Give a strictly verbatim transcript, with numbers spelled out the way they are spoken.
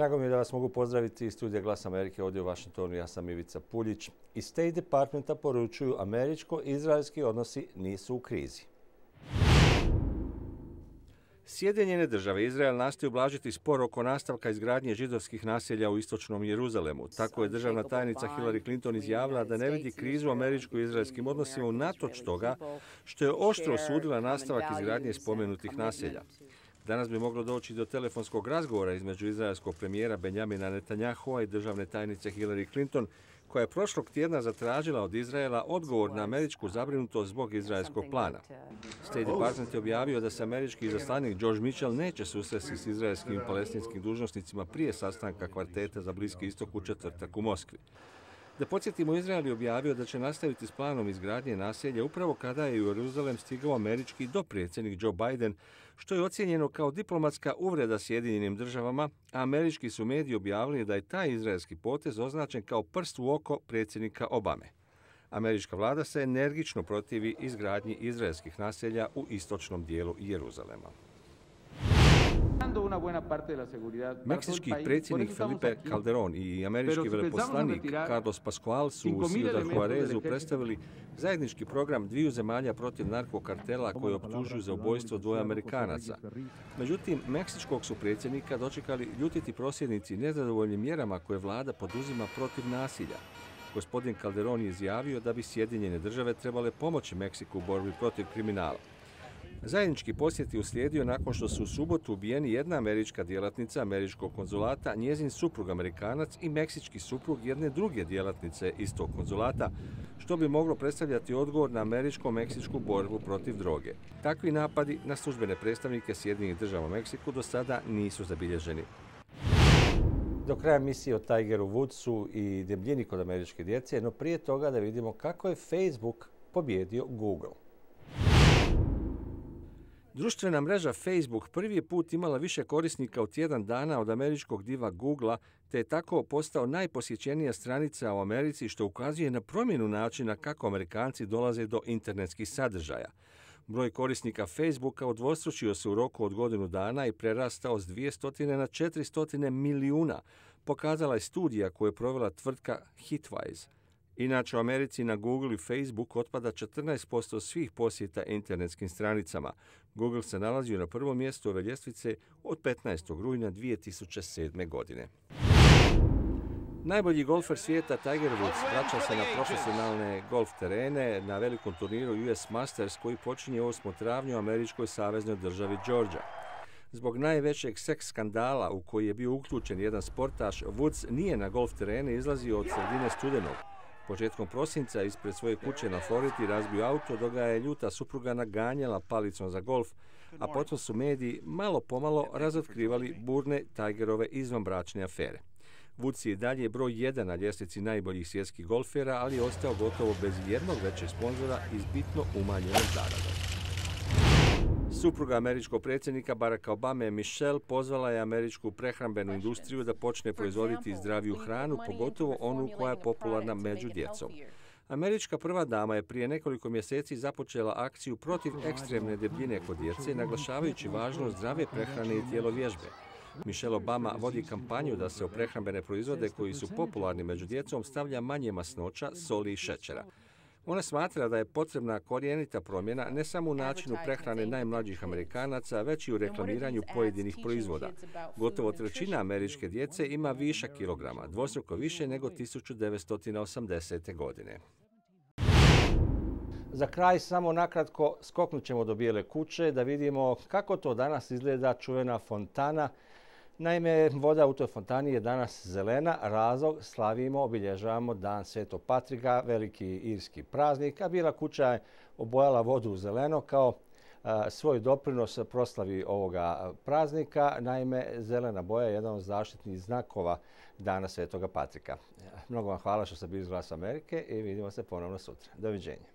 Drago mi je da vas mogu pozdraviti iz studija Glas Amerike ovdje u Washingtonu. Ja sam Ivica Puljić. Iz State Departmenta poručuju američko-izraelski odnosi nisu u krizi. Sjedinjene države i Izrael nastoje ublažiti spor oko nastavka izgradnje židovskih naselja u istočnom Jeruzalemu. Tako je državna tajnica Hillary Clinton izjavila da ne vidi krizu u američko-izraelskim odnosima unatoč toga što je oštro osudila nastavak izgradnje spomenutih naselja. Danas bi moglo doći do telefonskog razgovora između izraelskog premijera Benjamina Netanyahua i državne tajnice Hillary Clinton, koja je prošlog tjedna zatražila od Izraela odgovor na američku zabrinutost zbog izraelskog plana. State Department je objavio da se američki izaslanik George Mitchell neće susresti s izraelskim i palestinskim dužnosnicima prije sastanka kvarteta za Bliski istok u četvrtak u Moskvi. Da podsjetimo, Izrael je objavio da će nastaviti s planom izgradnje naselja upravo kada je u Jeruzalem stigao američki dopredsjednik Joe Biden, što je ocijenjeno kao diplomatska uvreda Sjedinjenim državama, a američki su mediji objavili da je taj izraelski potez označen kao prst u oko predsjednika Obame. Američka vlada se energično protivi izgradnji izraelskih naselja u istočnom dijelu Jeruzalema. Meksički predsjednik Felipe Calderón i američki veleposlanik Carlos Pascual su u Ciudad Juarezu predstavili zajednički program dviju zemalja protiv narkokartela koji optužuju za ubojstvo dvoje Amerikanaca. Međutim, meksičkog su predsjednika dočekali ljutiti prosvjednici nezadovoljnim mjerama koje vlada poduzima protiv nasilja. Gospodin Calderón je izjavio da bi Sjedinjene države trebale pomoći Meksiku u borbi protiv kriminala. Zajednički posjet je uslijedio nakon što su u subotu ubijeni jedna američka djelatnica američkog konzulata, njezin suprug Amerikanac i meksički suprug jedne druge djelatnice istog konzulata, što bi moglo predstavljati odgovor na američko-meksičku borbu protiv droge. Takvi napadi na službene predstavnike Sjedinjenih država u Meksiku do sada nisu zabilježeni. Do kraja emisije o Tigeru Woodsu i debljini kod američke djece, no prije toga da vidimo kako je Facebook pobjedio Google. Društvena mreža Facebook prvi je put imala više korisnika u tjedan dana od američkog diva Googlea, te je tako postao najposjećenija stranica u Americi, što ukazuje na promjenu načina kako Amerikanci dolaze do internetskih sadržaja. Broj korisnika Facebooka udvostručio se u roku od godinu dana i prerastao s dvjesto na četiristo milijuna, pokazala je studija koju je provela tvrtka Hitwise. Inače, u Americi na Google i Facebook otpada četrnaest posto svih posjeta internetskim stranicama. Google se nalazio na prvom mjestu ove ljestvice od petnaestog rujna dvije tisuće sedme. godine. Najbolji golfer svijeta Tiger Woods vraća se na profesionalne golf terene na velikom turniru U S Masters koji počinje osmog travnja u američkoj saveznoj državi Georgia. Zbog najvećeg seks skandala u koji je bio uključen jedan sportaš, Woods nije na golf terene izlazio od sredine studenog. Početkom prosinca ispred svoje kuće na Floridi razbio auto dok ga je ljuta supruga naganjala palicom za golf, a potom su mediji malo pomalo razotkrivali burne Tigerove izvanbračne afere. Woods je i dalje broj jedan na ljestvici najboljih svjetskih golfera, ali je ostao gotovo bez jednog većeg sponzora i s bitno umanjenom zaradom. Supruga američkog predsjednika Baracka Obame, Michelle, pozvala je američku prehrambenu industriju da počne proizvoditi zdraviju hranu, pogotovo onu koja je popularna među djecom. Američka prva dama je prije nekoliko mjeseci započela akciju protiv ekstremne debljine kod djece, naglašavajući važnost zdrave prehrane i tjelovježbe. Michelle Obama vodi kampanju da se u prehrambene proizvode koji su popularni među djecom stavlja manje masnoća, soli i šećera. Ona smatra da je potrebna korijenita promjena ne samo u načinu prehrane najmlađih Amerikanaca, već i u reklamiranju pojedinih proizvoda. Gotovo trećina američke djece ima višak kilograma, dvostruko više nego tisuću devetsto osamdesete. godine. Za kraj samo nakratko skoknut ćemo do Bijele kuće da vidimo kako to danas izgleda čuvena fontana. Naime, voda u toj fontani je danas zelena, razlog slavimo, obilježavamo Dan Svetog Patrika, veliki irski praznik, a Bijela kuća je obojala vodu u zeleno kao a, svoj doprinos proslavi ovoga praznika. Naime, zelena boja je jedan od zaštitnih znakova Dana Svetoga Patrika. Mnogo vam hvala što ste bili iz Glasa Amerike i vidimo se ponovno sutra. Doviđenja.